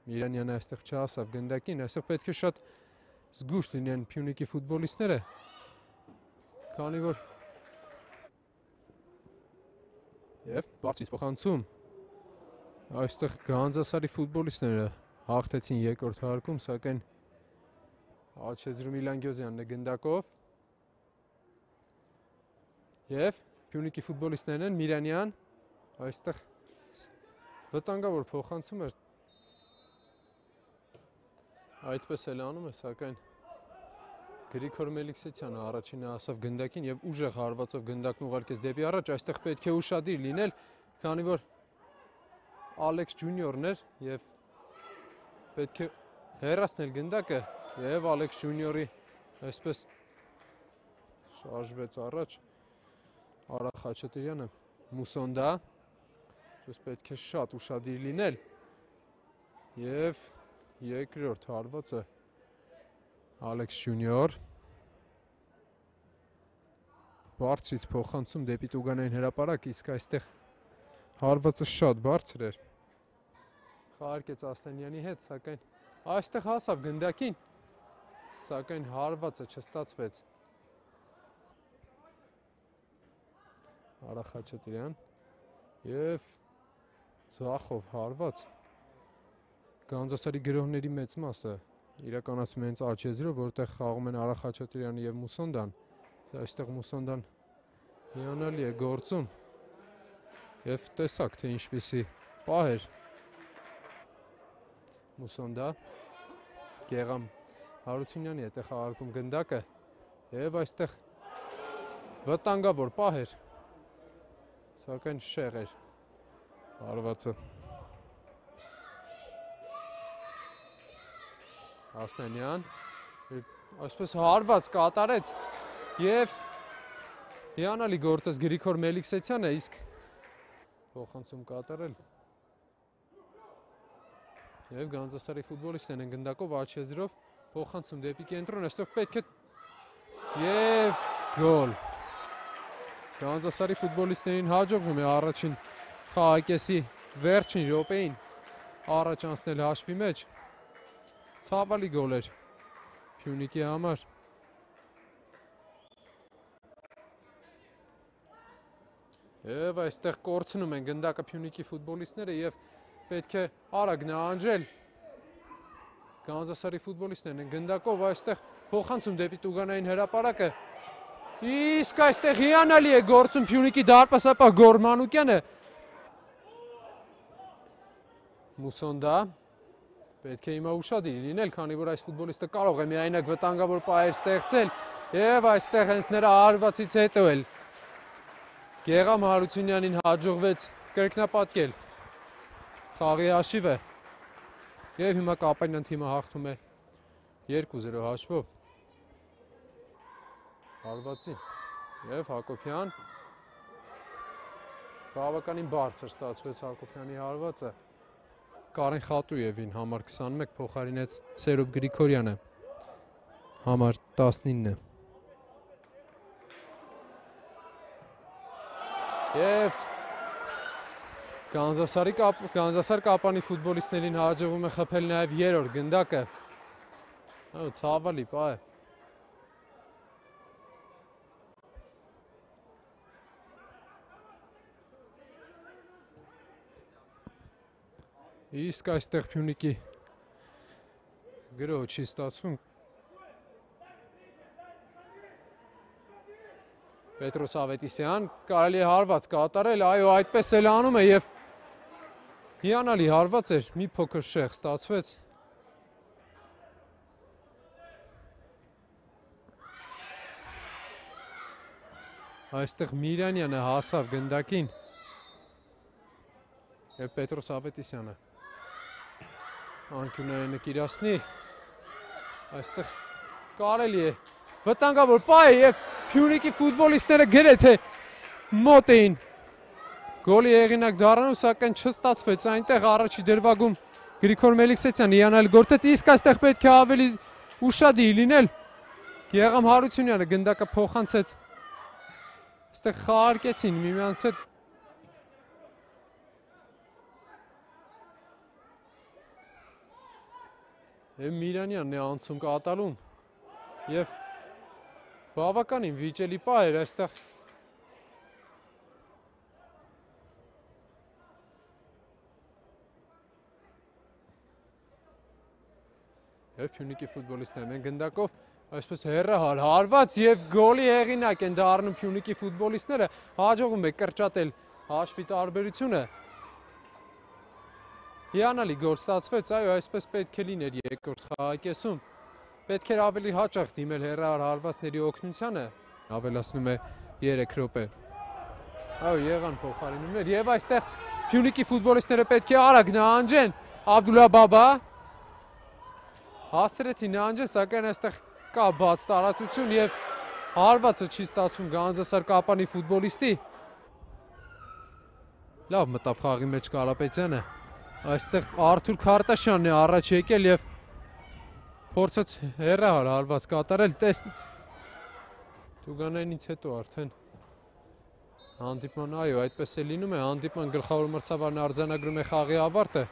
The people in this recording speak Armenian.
Միրանյանը այստեղ չհասավ գնդակին, այստեղ պետք է շատ զգուշ լինեն Փյունիկի ֆուտբոլիստները, քանի որ եւ բարձրից փոխանցում այստեղ Գանձասարի ֆուտբոլիստները հաղթեցին երկրորդ հարկում, սակայն Աչեզրու Միլանգյոզյանն է գնդակով եւ Փյունիկի ֆուտբոլիստներն են Միրանյան այստեղ վտանգավոր փոխանցում էր այդպես էլ անում է, սակայն Գրիգոր Մելիքսեթյանը առաջինը հասավ գնդակին եւ ուժեղ հարվածով գնդակն ուղարկեց դեպի առաջ, այստեղ պետք է ուշադիր լինել, քանի որ Ալեքս Ջունիորն էր եւ պետք է հեռացնել գնդակը եւ Ալեքս Ջունիորի այսպես շարժվեց առաջ Արա Խաչատրյանը, Մուսոնդա, այսպես պետք է շատ ուշադիր լինել եւ երկրորդ հարվածը Ալեքս Ջունիոր բարձրից փոխանցում դեպի Տուգանային հրապարակ, իսկ այստեղ հարվածը շատ բարձր էր խաղարկեց Ասլանյանի հետ, սակայն այստեղ հասավ գնդակին, սակայն հարվածը չստացվեց Արա Խաչատրյան եւ ձախով հարված Գանձասարի գրողների մեծ մասը իրականացում են հենց Աչեզրով, որտեղ խաղում են Արա Խաչատրյանը եւ Մուսոնդան։ Այստեղ Մուսոնդան հիանալի է գործում եւ տեսակ թե ինչպիսի պահ էր Մուսոնդա Գեղամ Հարությունյանի հետ է խաղարկում գնդակը եւ այստեղ վտանգավոր պահ էր, սակայն շեղ էր հարվածը Ասլանյան այսպես հարված կատարեց եւ հիանալի գործեց Գրիգոր Մելիքսեթյանը, իսկ փոխանցում կատարել եւ Գանձասարի ֆուտբոլիստներն են գնդակով Աչեզրով փոխանցում դեպի կենտրոն, այստեղ պետք է եւ գոլ Գանձասարի ֆուտբոլիստներին հաջողվում է առաջին խաղակեսի վերջին րոպեին առաջ անցնել հաշվի մեջ Ցավալի գոլ էր Փյունիկի համար եւ այստեղ կորցնում են գնդակը Փյունիկի ֆուտբոլիստները եւ պետք է արագ նահանջել Գանձասարի ֆուտբոլիստներն են գնդակով այստեղ փոխանցում դեպի Տուգանային հրապարակը իսկ այստեղ հիանալի է գործում Փյունիկի դարպասապահ Գոր Մանուկյանը Մուսոնդա պետք է հիմա ուշադիր լինել, քանի որ այս ֆուտբոլիստը կարող է միայնակ վտանգավոր պահեր ստեղծել եւ այստեղ հենց նրա հարվածից հետո էլ Գեղամ Հարությունյանին հաջողվեց կրկնապատկել խաղի հաշիվը եւ հիմա Կապանյան թիմը հաղթում է 2-0 հաշվով հարվածին եւ Հակոբյան բավականին բարձր ստացվեց Հակոբյանի հարվածը Կարեն Խատույևին համար 21 փոխարինեց Սերոբ Գրիգորյանը համար 19 եւ Գանձասար Կապանի ֆուտբոլիստներին հաջողվում է խփել նաեւ երրորդ գնդակը ցավալի պահ է Իսկ այստեղ Փյունիկի գրոհը չի ստացվում Պետրոս Ավետիսյան կարելի է հարված կատարել, այո այդպես էլ անում է եւ հիանալի հարված էր, մի փոքր շեղ ստացվեց Այստեղ Միրանյանը հասավ գնդակին եւ Պետրոս Ավետիսյանը Անկյունային կիրասնի այստեղ կարելի է վտանգավոր պահ է եւ Փյունիկի ֆուտբոլիստները գրեթե մոտ էին գոլի հեղինակ դառնալու, սակայն չստացվեց այնտեղ առաջի դրվագում Գրիգոր Մելիքսեթյանը հիանալի գործեց, իսկ այստեղ պետք է ավելի ուշադիր լինել Գեղամ Հարությունյանը գնդակը փոխանցեց այստեղ խաղարկեցին միմյանց հետ Միրանյանն է անցում կատարում եւ բավականին վիճելի պա էր այստեղ եւ Փյունիկի ֆուտբոլիստներն են գնդակով այսպես հեռահար հարված եւ գոլի հեղինակ են դառնում Փյունիկի ֆուտբոլիստները հաջողում է կրճատել հաշվի տարբերությունը հիանալի գոլ ստացվեց այո այսպես պետք է լիներ երկրորդ խաղակեսում պետք էր ավելի հաճախ դիմել հեռահար հարվածների օգնությանը ավելացնում է 3 րոպե այո եղան փոխարինումներ եւ այստեղ Փյունիկի ֆուտբոլիստները պետք է արագ նահանջեն Աբդուլլա Բաբա հասցրեցին նահանջեն, սակայն այստեղ կա բաց տարածություն եւ հարվածը չի ստացվում Գանձասար Կապանի ֆուտբոլիստի։ Լավ մտավ խաղի մեջ Կարապետյանը։ Այստեղ Արթուր Քարտաշյանն է առաջ եկել եւ փորձեց հեռահար հարված կատարել, Տուգանայինից հետո արդեն հանդիպման, այո, այդպես է լինում է, հանդիպման գլխավոր մրցավարն արձանագրում է խաղի ավարտը։